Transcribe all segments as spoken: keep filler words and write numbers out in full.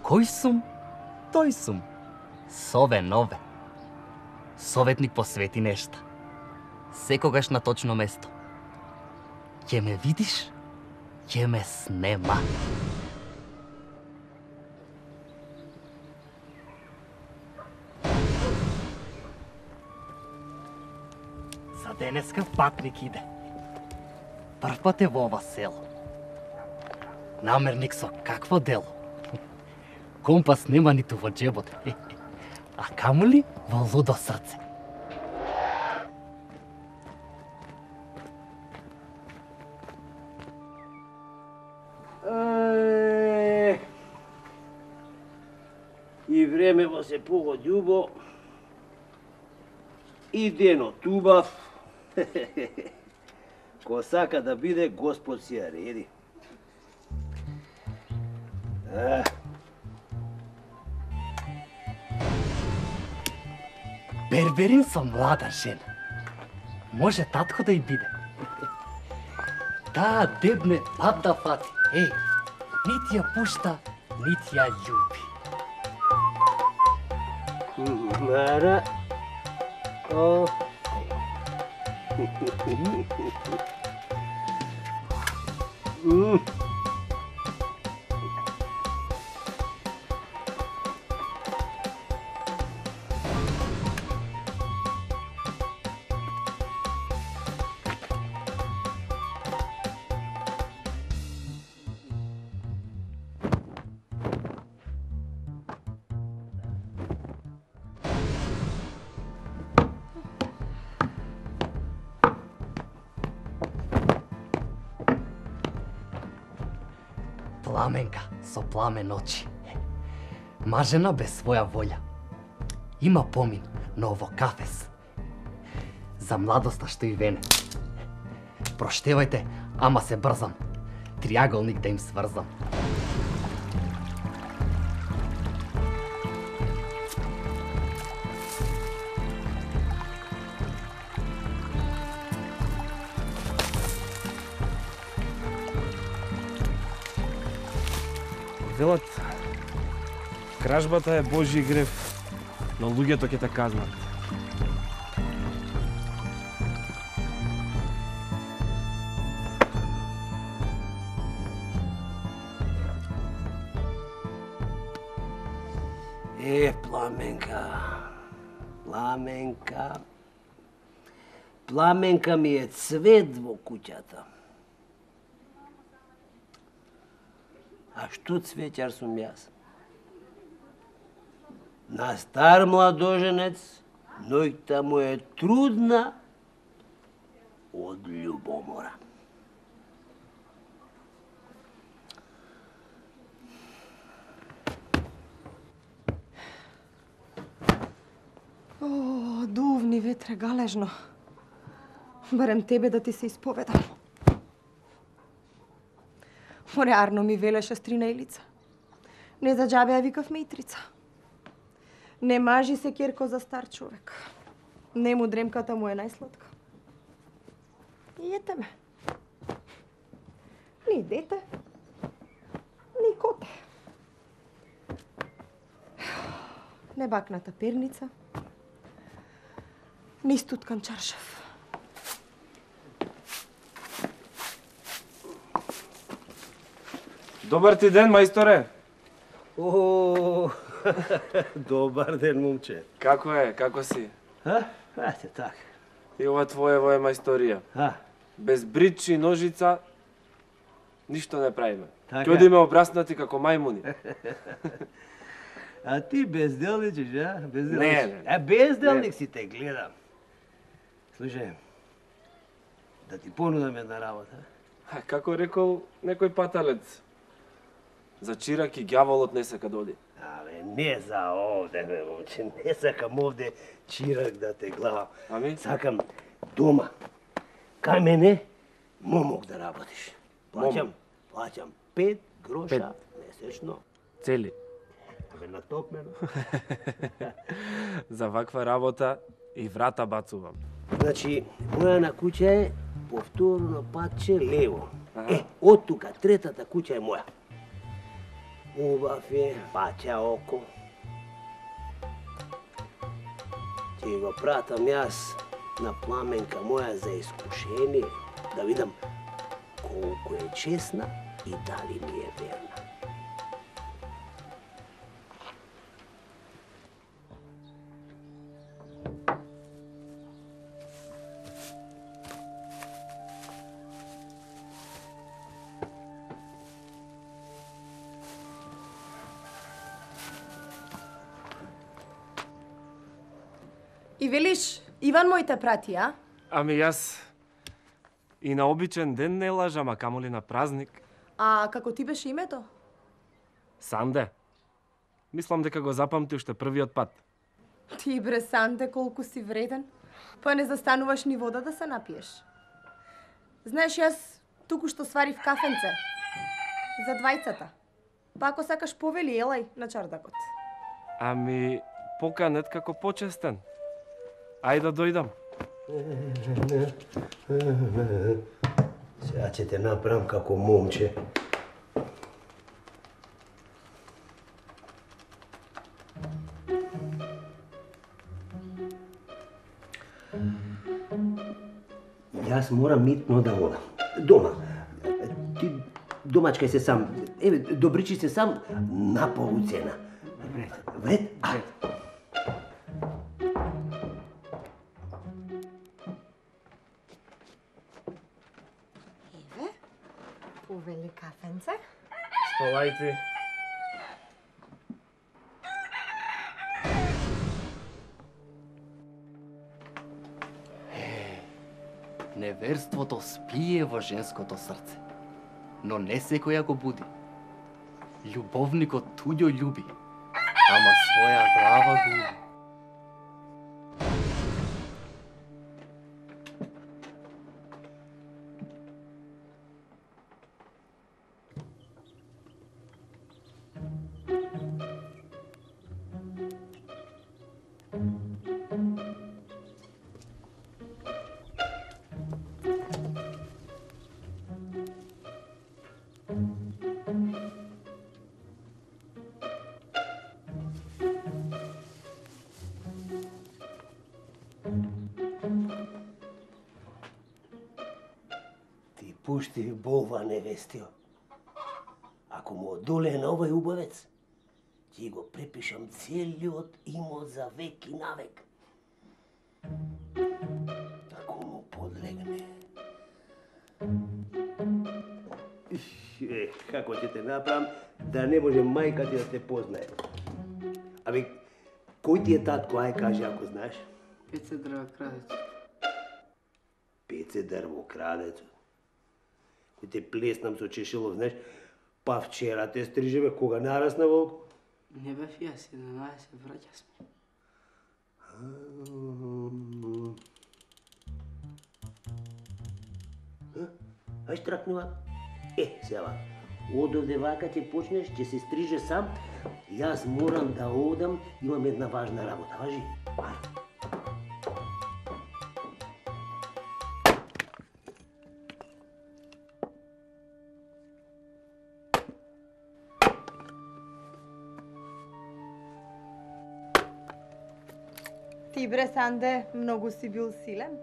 Кој сум, тој сум. Сове нове. Советник посвети нешта. Секогаш на точно место. Ќе ме видиш, ќе ме снема. За денеска патник иде. Прв пат е во ова село. Намерник со какво дело? Компас нема ниту во джебот, а камули во лудо срце. Е, и времево се погоди убо, и денот убав. Ко сака да биде, Господ си ја реди. А. Берберин со млада жена. Може татко да и биде. Таа дебне пат да фати. Еј, нити ја пушта, нити ја љуби. Мара. О. М. Пламенка со пламен очи. Мажена без своја волја. Има помин, но во кафес. За младоста што и вене. Проштевајте, ама се брзам. Триаголник да им сврзам. Велат, кражбата е Божји грев, но луѓето ќе те казнат. Е, Пламенка, Пламенка, Пламенка ми е цвет во куќата. А што цветјар сум јас? На стар младоженец, ноќта му е трудна од љубомора. О, дувни ветре галежно. Барем тебе да ти се исповедам. Море Арно ми велеше стрина Илица. Не за џабе ја викав Митрица. Не мажи се керко за стар човек. Не му дремката му е најсладка. И ете ме. Ни дете, ни коте. Не бакната перница, ни стуткан чаршав. Добар ти ден, мајсторе. О, добар ден, момче. Како е, како си? А? Ате, така. И ова твоево е мајсторија. А? Без брич и ножица ништо не правиме. Така. Ќе одиме обраснати како мајмуни. А ти безделничиш, а? Безделнич. Не, не. А безделник си те гледам. Слушај, да ти понудам една работа. А, како рекол некој паталец. За чирак и ѓаволот не сака да оди. Абе, не за овде, бе, момче. Не сакам овде чирак да те главам. Ами? Сакам дома. Кај мене момок да работиш. Плаќам, плаќам пет гроша месечно. Цели. Абе, натопмено. За ваква работа и врата бацувам. Значи, моја на куќа е повторно патче лево. Аха. Е, од тука, третата куќа е моја. Убав е, паќа око. Ќе го пратам јас на Пламенка моја за искушение, да видам колку е честна и дали ми е верна. И велиш, Иван мој те прати, а? Ами јас и на обичен ден не лажам, а камоли на празник. А како ти беше името? Санде. Мислам дека го запамти уште првиот пат. Ти бре, Санде, колку си вреден. Па не застануваш ни вода да се напиеш. Знаеш, јас туку што сварив кафенце. За двајцата. Па ако сакаш повели, елај на чардакот. Ами, поканет како почестен. Ајде да дојдам. Сега ќе те направам како момче. Јас морам митно да одам. Дома. Ти домачкај се сам. Еве, добричи се сам на полуцена. Вред, вред, вред. Повели кафенце. Столајте. Неверството спие во женското срце, но не секоја го буди. Љубовникот туѓо љуби, ама своја глава губи. Пушти болва невестио. Ако му одолее на овој убавец, ќе го препишам целиот имот за век и навек. Ако му подлегне. Е, како ќе те направам да не може мајка ти да те познае? Аби, кој ти е татко, ај кажи ако знаеш? Пеце дрвокрадецот. Пеце дрвокрадецот. Кој те плеснам со чешелов, знаеш, па вчера те стрижеве, кога нарасна волк? Не бев јас, еднанаесет враќа сме. Ај штракнува. Е, сега, од овде вака ќе почнеш, ќе се стриже сам. Јас морам да одам, имам една важна работа, важи? Ај. Ти бре, Санде, многу си бил силен.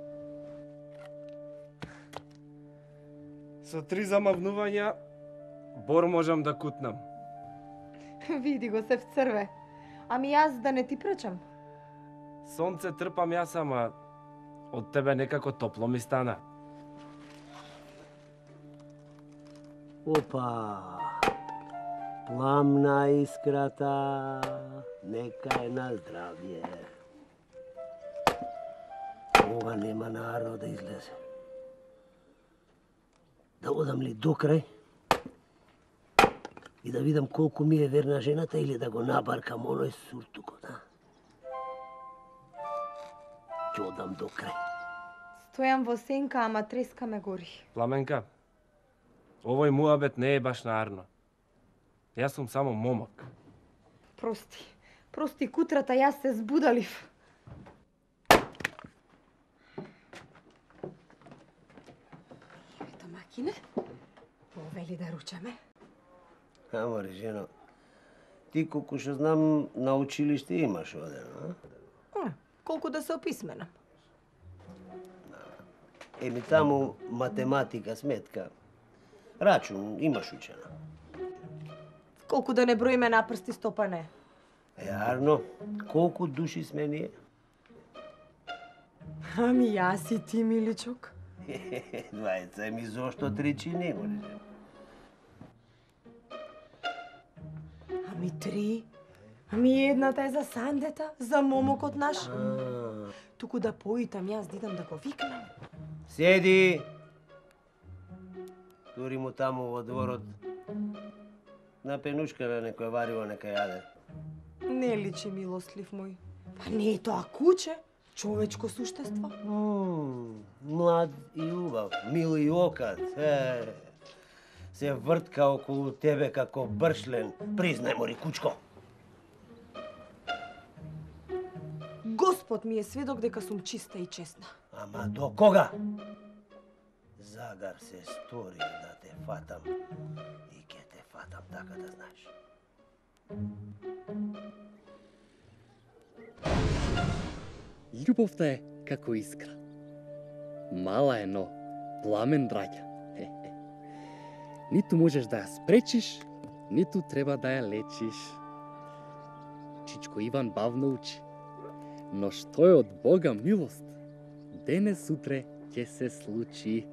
Со три замавнувања, бор можам да кутнам. Види го се вцрве. Ами јас да не ти пречам. Сонце трпам јас, ама од тебе некако топло ми стана. Опа! Пламна искрата, нека е на здравје. Ова нема наравно да излезе. Да одам ли до крај и да видам колку ми е верна жената или да го набаркам оној суртукот, а? Ќе одам до крај. Стојам во сенка, ама треска ме гори. Пламенка, овој муабет не е баш наарно. Јас сум само момак. Прости, прости кутрата, јас се збудалив. Ето, макине, повели да ручаме. Амори, жено, Ти, колку што знам, на училиште имаш одено, а? Е, колку да се описменам. Еми таму математика, сметка, рачун имаш учена. Колку да не броиме на прсти стопа не. Е, Арно, колку души сме ние? Ами јас и ти, миличок. Двајца, еми зошто тричи не можеш? Ами три. Ами едната е за Сандета, за момокот наш. Туку да поитам јас да идам да го викнам. Седи! Тури му таму во дворот. На пенушка на некој вариво нека јаде. Не личи, милостлив мој. Па не е тоа куче, човечко суштество. Мм, млад и убав, мил и окат. Е, се вртка околу тебе како бршлен. Признај, мори кучко. Господ ми е сведок дека сум чиста и честна. Ама до кога? Загар се стори да те фатам и ќе те фатам, така да знаеш. Љубовта е како искра. Мала е, но пламен браќа. Ниту можеш да ја спречиш, ниту треба да ја лечиш. Чичко Иван бавно учи. Но што е од Бога милост, денес утре ќе се случи.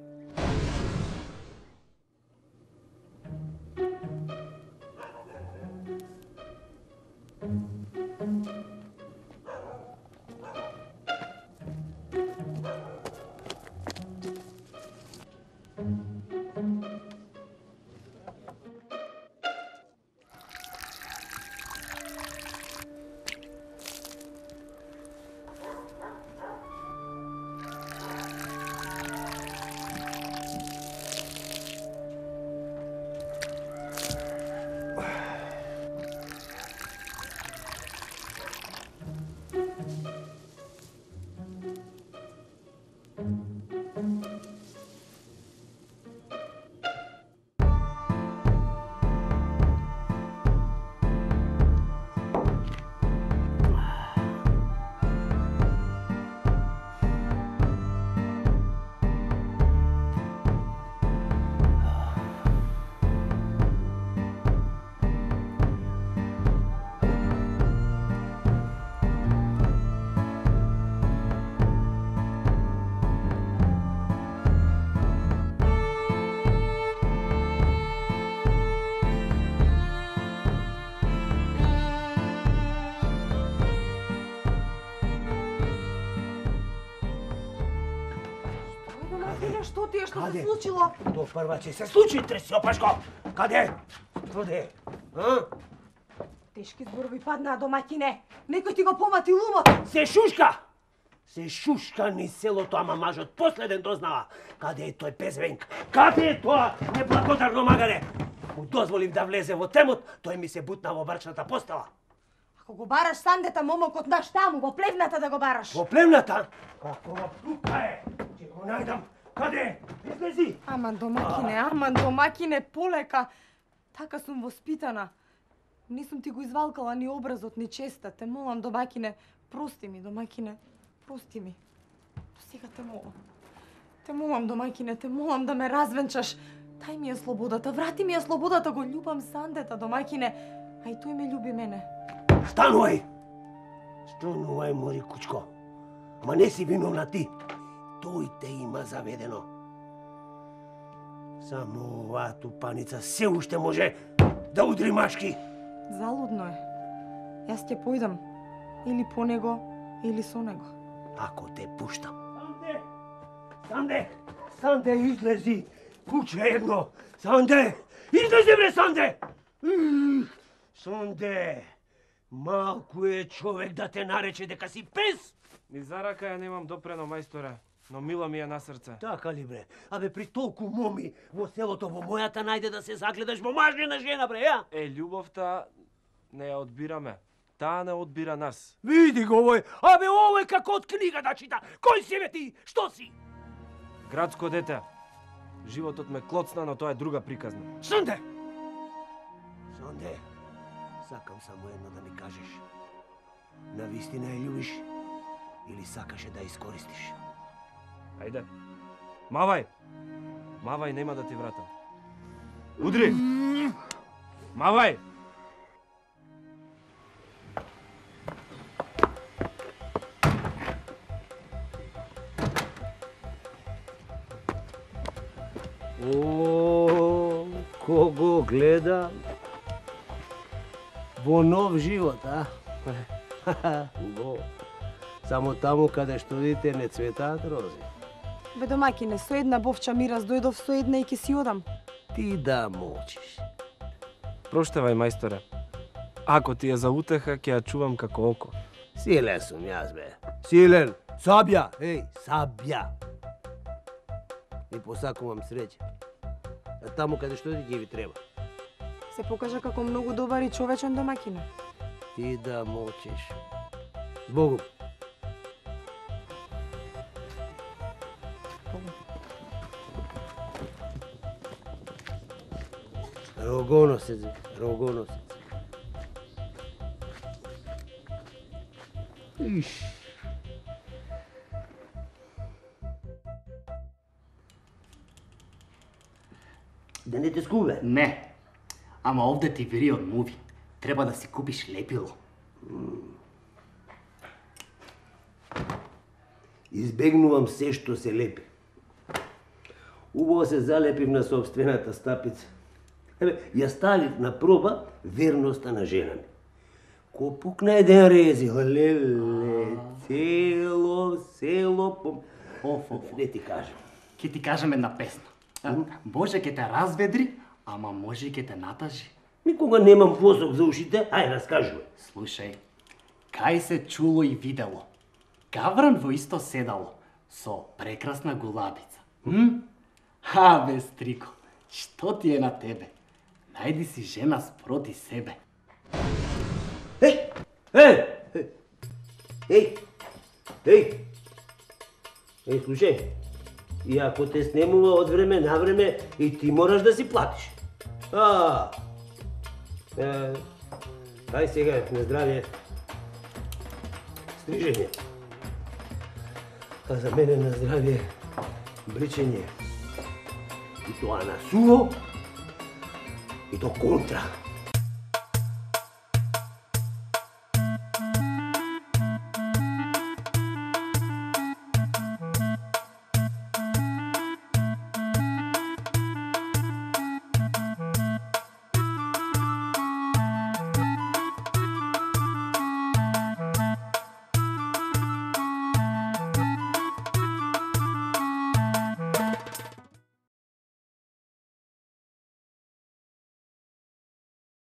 Што ти е, што Каде? се случило? То прва ќе се случи, тресјопашко! Каде? Каде? А? Тешки зборови паднаа, домаќине. Некој ти го помати лумот. Се шушка! Се шушка низ селото, ама мажот последен дознава. Каде е тој пезвенк? Каде е тоа неблагодарно магаре? Му дозволив да влезе во темот, тој ми се бутна во брачната постела. Ако го бараш Сандета, момокот наш таму, во плевната да го бараш. Во племната? Какова птука е? Ќе го најдам. Каде? Излези! Аман домакине, аман домакине, полека. Така сум воспитана. Не сум ти го извалкала ни образот, ни честа. Те молам, домакине, прости ми, домакине, прости ми. Сега те молам. Те молам, домакине, те молам да ме развенчаш. Дај ми ја слободата, врати ми ја слободата, го љубам Сандета, домакине. А и тој ме љуби мене. Станувај! Станувај, мори кучко. Ама не си виновна ти. Тој те има заведено. Само оваа тупаница се уште може да удри машки. Залудно е. Јас ќе појдам. Или по него, или со него. Ако те пуштам. Санде! Санде! Санде, излези! Куче едно! Санде! Излези, бре, Санде! Санде! Малку е човек да те нарече дека си пес! Ни за рака ја немам допрено, мајсторе, но мила ми е на срце. Така ли, бре? Абе, при толку моми во селото, во мојата најде да се загледаш во мажнина жена, бре, ја? Е, љубовта не ја одбираме. Таа не одбира нас. Види го овој! Абе, овој како од книга да чита! Кој си, бе, ти? Што си? Градско дете. Животот ме клоцна, но тоа е друга приказна. Санде! Санде! Сакам само едно да ми кажеш. Навистина ја љубиш или сакаше да ја искористиш? Ајде. Мавај. Мавај, нема да ти вратам. Удри. Мавај. О, кого гледам? Во нов живот, а? Во. Само таму каде што дите не цветаат рози. Бе домаќине, со една бовча мирас дојдов со една и ќе си одам. Ти да молчиш. Проштевај, мајсторе. Ако ти е за утеха, ќе ја чувам како око. Силен сум јас, бе. Силен. Сабја, еј, сабја. И посакувам среќа. А таму каде што ти ви треба. Се покажа како многу добар и човечен домаќине. Ти да молчиш. Богу. Рогоносец, рогоносец. Иш. Да не те скубе? Не. Ама овде ти вери од муви. Треба да си купиш лепило. Избегнувам се што се лепи. Убаво се залепив на собствената стапица. Еве, ја ставив на проба верноста на жена ми. Ко пукна еден рези, леле, цело село пом... Оф, оф, Не ти кажам. Ке ти кажам една песна. А, Боже ке те разведри, ама може и ке те натажи. Никога немам посок за ушите, ај раскажувај. Слушај, кај се чуло и видело. Гавран во исто седало, со прекрасна гулабица. М? А, бе, стрико, што ти е на тебе? Најди си жена спроти себе. Еј! Еј! Еј! Еј! Еј, слушај, и ако те снемува од време на време, и ти мораш да си платиш. А, е, ај сега, на здравје. Стрижење. А за мене на здравје бричење. И тоа на суво, и то контра.